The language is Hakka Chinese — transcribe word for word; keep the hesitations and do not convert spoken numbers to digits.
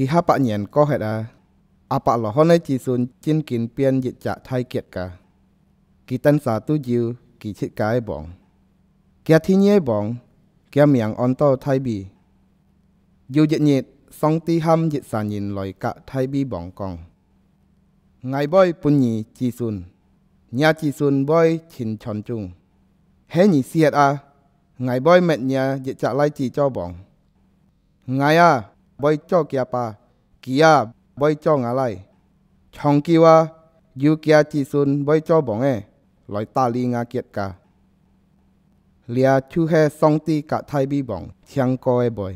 幾下百年過忒啊，亞伯拉罕个子孫真經變一隻大國家。佢等儕都有佢自家个王。厥第二个王，厥名安到大衛。有一日，上帝喊一儕人來佮大衛王講：「𠊎會分你子孫，若子孫會盡傳宗。係你死忒啊，𠊎會滅若一隻倈子做王。」 𠊎啊，會做厥爸，佢啊，會做吾倈。長久啊，有厥子孫會做王仔，來打理吾國家。這就係上帝佮大衛王訂過个話。